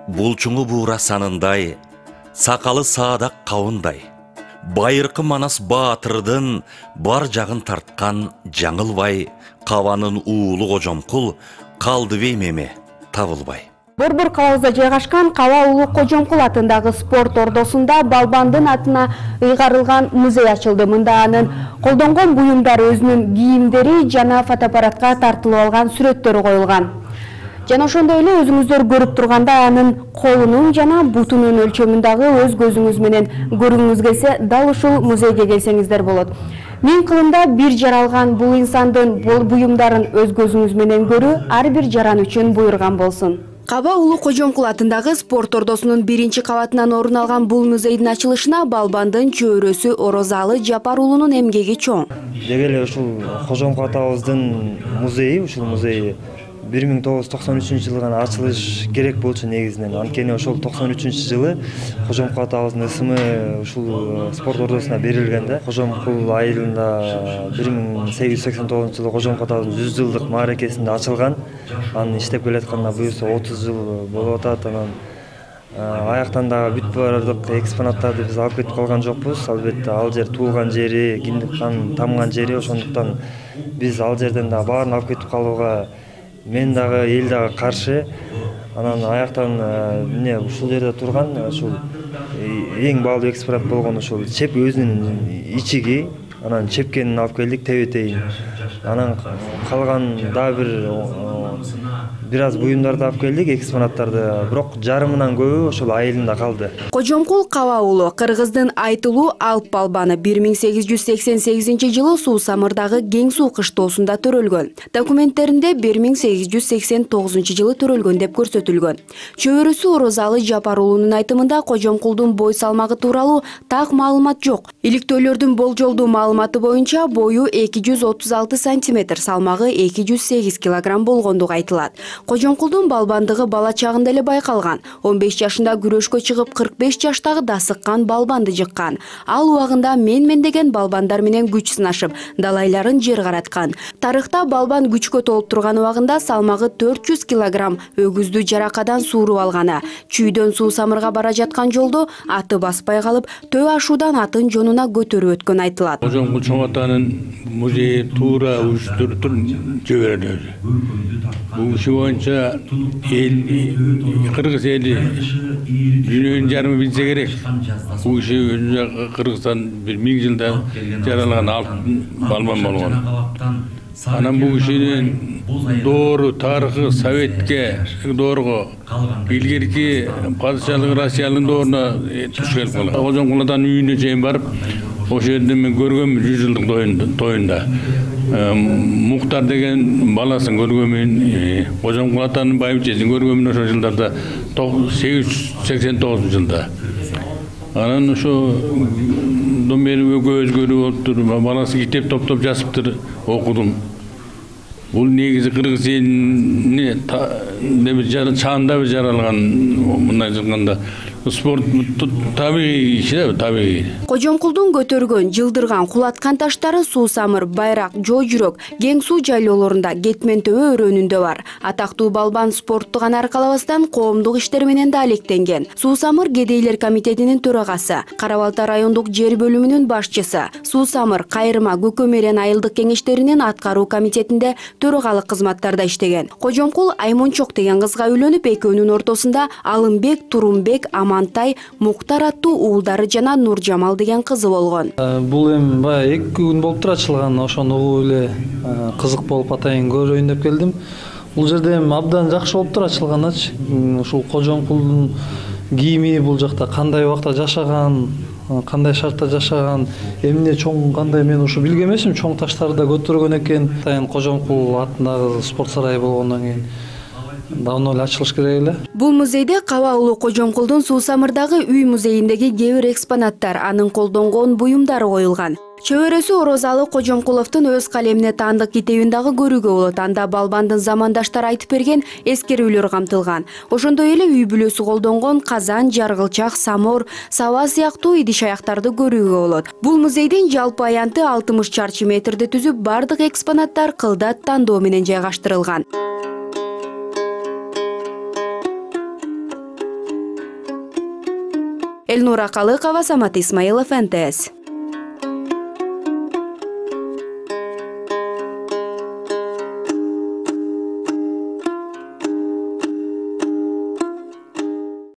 Булчуңу буура санындай, сакалы саадак кабындай. Байыркы Манас Баатырдын бар жагын тарткан жаңылбай, Кабанын уулу Кожомкул калдыбей меме табылбай. Борбор калабызда жайгашкан Каба уулу Кожомкул атындагы спорт ордосунда Балбандын атына ыйгарылган музей ачылды. Мында анын колдонгон буюмдары, өзүнүн кийимдери жана фотоаппаратка тартылып алган сүрөттөрү коюлган. Жана ошондой эле өзүңүздөр көрүп тургандай анын колунун жана бутунун өлчөмүндагы өз көзүңүз менен көргүңүз келсе, дал ушул музейге келсеңиздер болот. Миң кылымда бир жаралган бул инсандын буюмдарын өз көзүңүз менен көрүү ар бир жаран үчүн буйрган болсун. Каба уулу Кожомкул атындагы спорт ордосунун биринчи кабатынан орун алган бул музейдин ачылышына Балбандын чөбөрөсү Орозалы Жапар уулунун эмгеги чоң. Деги эле ушул Кожомкул атабыздын музейи, ушул музей 1993-жылы гана ачылыш керек болчу негизинен. Анткени ошол 93-жылы Кожомкул атабыздын ысымы ушул спорт ордосуна берилген да. Кожомкул айылында 1889-жылы Кожомкул атабыздын 100 жылдык мааракесинде ачылган. Анын иштеп келатканына буюрса 30 жыл болуп атат. Анан аяктан дагы бүт бардык экспонаттарды биз алып кетип калган жокпуз. Албетте ал жер туулган жери, киндик кан тамган жери, ошондуктан биз ал жерден дагы баарын алып кетип калууга мен дагы эл дагы каршы. Анан аяктан эмне ушул жерде турган ушул эң баалуу экспонат болгон ушул чеп өзүнүн ичиги, анан чепкенин алып келдик тебетейин. Анан калган дагы бир аз буюмдарды алып келдик, экспонаттарды, бирок жарымынан көбү ошол айылында калды. Кожомкул Каба уулу Кыргыздын айтылуу Алп балбаны 1888-жылы Суусамырдагы Кең суу кыштоосунда төрөлгөн. Документтеринде 1889-жылы төрөлгөн деп көрсөтүлгөн. Чөбөрөсү Орозалы Жапар уулунун айтымында Кожомкулдун бой салмагы тууралуу так маалымат жок. Иликтөөлөрдүн болжолдуу маалыматы боюнча бою 236 см, салмагы 208 кг болгондугу айтылат. Кожомкулдун балбандыгы бала чагында эле байкалган. 15 жашында күрөшкө чыгып 45 жаштагы дасыккан балбанды жыккан. Ал убагында мен деген балбандар менен күч сынашып, далайларын жер караткан. Тарыхта балбан күчкө толуп турган убагында салмагы 400 кг өгүздү жаракадан сууруп алганы. Чүйдөн Суусамырга бара жаткан жолдо аты баспай калып, төө ашуудан атын жонуна көтөрүп өткөн айтылат. Кожомкул чоң атанын музейи туура уюштуруп жиберилди. Бул иши боюнча Кыргыз эли дүйнөнүн жарымы билсе керек. Бул иши Кыргызстан 1000 жылда жаралган алп балбан болгон. Анан бул ишинин доору тарыхы Советке доорго илгерки падышалык Россиянын дооруна туш келип калган. Кожомкул атанын үйүнө чейин барып, ошол жерде мен көргөмүн 100 жылдык тоюнда. Муктар деген баласын көргөмүн, Кожомкул атанын байбичесин көргөмүн ошол жылдарда 889-жылда. Анан ошодон бери өзгөрүү болуптур, баласы китеп топтоп жазыптыр, окудум. Бул негизи Кыргыз элине чаанда жаралган, мындай айтканда спорт табигый иш, табигый. Кожомкулдун көтөргөн, жылдырган, кулаткан таштары Суусамыр, Байрак, Жоо жүрөк, Кең суу жайлоолорунда, Кетмен төбө өрөөнүндө бар. Атактуу балбан спортту гана аркалабастан коомдук иштер менен да алектенген. Суусамыр кедейлер комитетинин төрагасы, Кара Балта райондук жер бөлүмүнүн башчысы, Суусамыр, Кайрыма, Көкөмерен айылдык кеңештеринин аткаруу комитетинде төрагалык кызматтарда иштеген. Кожомкул Аймончок деген кызга үйлөнүп, экөөнүн ортосунда Алымбек, Турумбек, Амантай, Муктар аттуу уулдары жана Нуржамал деген кызы болгон. Бул эми баягы 2 күн болуптур ачылган, ошону угуп эле кызык болуп атайын көрөйүн деп келдим. Бул жерде эми абдан жакшы болуптур ачылганычы. Ушул Кожомкулдун кийими бул жакта кандай убакта жашаган, кандай шартта жашаган, эмне чоң кандай мен ушу билген эмесмин, чоң таштарды да көтөргөн экен. Атайын Кожомкул атындагы спорт сарайы болгондон кийин давно эле ачылыш керек эле. Бул музейде Каба уулу Кожомкулдун Суусамырдагы үй музейиндеги кээ бир экспонаттар, анын колдонгон буюмдары коюлган. Чөбөрөсү Орозалы Кожомкуловдун өз калемине таандык китебин дагы көрүүгө болот. Анда балбандын замандаштары айтып берген эскерүүлөр камтылган. Ошондой эле үй бүлөсү колдонгон казан, жаргылчак, самор, саба сыяктуу идиш аяктарды көрүүгө болот. Бул музейдин жалпы аянты 60 чарчы метрди түзүп, бардык экспонаттар кылдат тандоо менен жайгаштырылган. Элнура Калыкова, Самат Исмаилов, НТС.